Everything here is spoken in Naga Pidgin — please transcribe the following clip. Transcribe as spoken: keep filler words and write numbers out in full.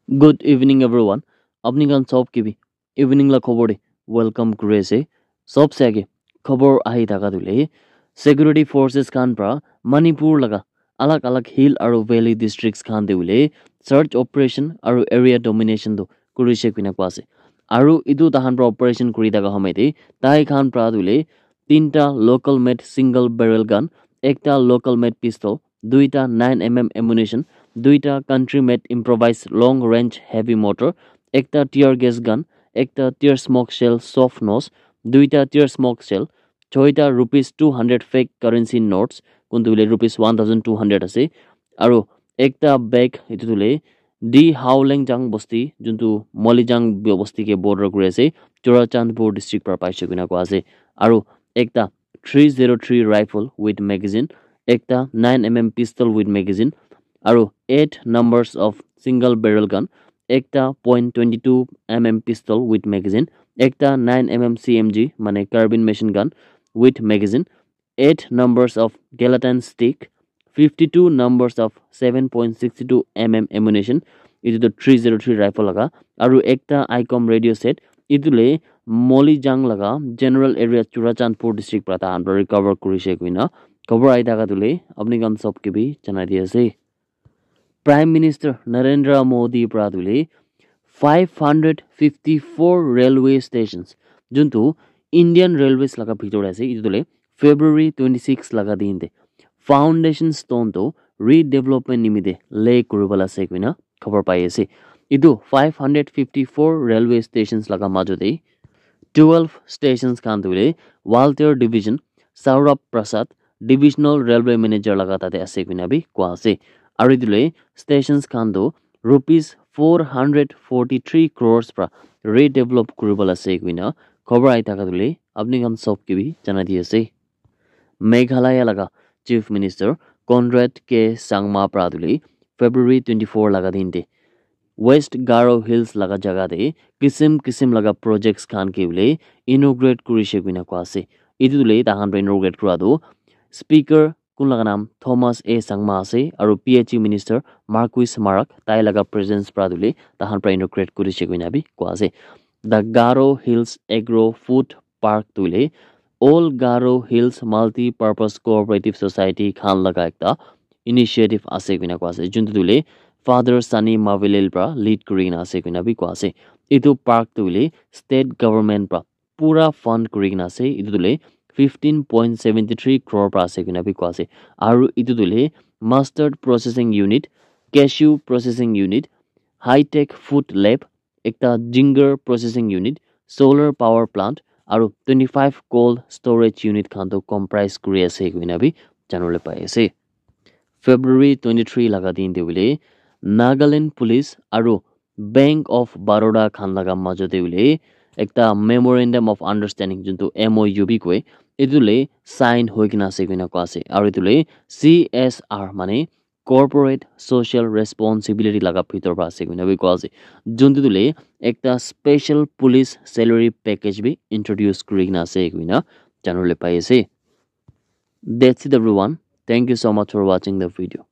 Good evening, everyone. Apni khan sob ke bhi evening la khobor de welcome kuri ase. Sob se age khobor ahi thaka tu le, security forces khan pra Manipur laga alag alag hill aru valley districts khan te hoile search operation aru area domination tu kurise koina koa ase. Aru etu tahan pra operation kuri thaka hamai te tai khan pra tu le tinta local made single barrel gun, ekta local made pistol, duita nine M M ammunition, duita country made improvised long range heavy mortar, ekta tear gas gun, ekta tear smoke shell soft nose, duita tear smoke shell, choita rupees two hundred fake currency notes, kuntu hoile rupees one thousand two hundred ase, aru ekta bag, etu tu hoile D Haolengjang bosti, juntu Molijang bosti ke border kuri ase, Churachandpur district para paise koina koa ase, aru ekta three zero three rifle with magazine, ekta nine M M pistol with magazine, aru eight numbers of single barrel gun, ekta point twenty two M M pistol with magazine, ekta nine M M C M G mane carbine machine gun with magazine, eight numbers of gelatin stick, fifty two numbers of seven point six two M M ammunition, etu tu three zero three rifle laga, aru ekta ICOM radio set, etu le Molijang laga general area Churachandpur district para tahan para recover kurise koina khobor ahi thaka tu le apni khan sob ke bhi janai di ase. Prime Minister Narendra Modi para tu le five hundred fifty four railway stations, juntu Indian Railways laga bhitor ase, etu tu le February twenty six laga din te foundation stone tu redevelopment nimite lay kuribala ase koina khobor pai ase. Etu five hundred fifty four railway stations laga majo te twelve stations khan tu le Walter Division, Saurabh Prasad, Divisional Railway Manager laga tate ase koina bi koa ase. Aru etu le stations khan tu rupees four hundred forty three crores pra redevelop kuribala ase koina khobor ahi thaka tu le apni khan sob ke bhi janai di ase. Meghalaya laga Chief Minister Conrad K Sangma pra tu le February twenty four laga din te West Garo Hills laga jaga te kisim kisim laga projects khan ke bole inaugurate kurise koina koa ase. Etu tu le tahan pra inaugurate kura tu Speaker kun laga naam Thomas A Sangma ase aru P H E Minister Marcuise Marak tai laga presence pra tu le tahan pra inaugurate kurise koina bi koa ase. The Garo Hills Agro Food Park tu le All Garo Hills Multi Purpose Cooperative Society khan laga ekta initiative ase koina koa ase, juntu tu le Father Sunny Mavilil pra lead kuri kena ase koina bi koa ase. Etu park tu le state government pra pura fund kuri kena ase. Etu tu le fifteen point seventy three crore pra ase koina bi koa ase. Aru etu tu le mustard processing unit, cashew processing unit, high tech food lab, ekta ginger processing unit, solar power plant, aru twenty five cold storage unit khan tu comprise kuri ase koina bi janibole pai ase. February twenty three laga din te hoile Nagaland Police aru Bank of Baroda khan laga majo te hoile ekta memorandum of understanding, juntu M O U bi koi, etu le sign hoi kena ase koina koa ase. Aru etu le C S R mane corporate social responsibility laga bhitor pra ase koina bi koa ase. Juntu tu le ekta special police salary package bi introduce kuri kena ase koina janibole pai ase. That's it, everyone. Thank you so much for watching the video.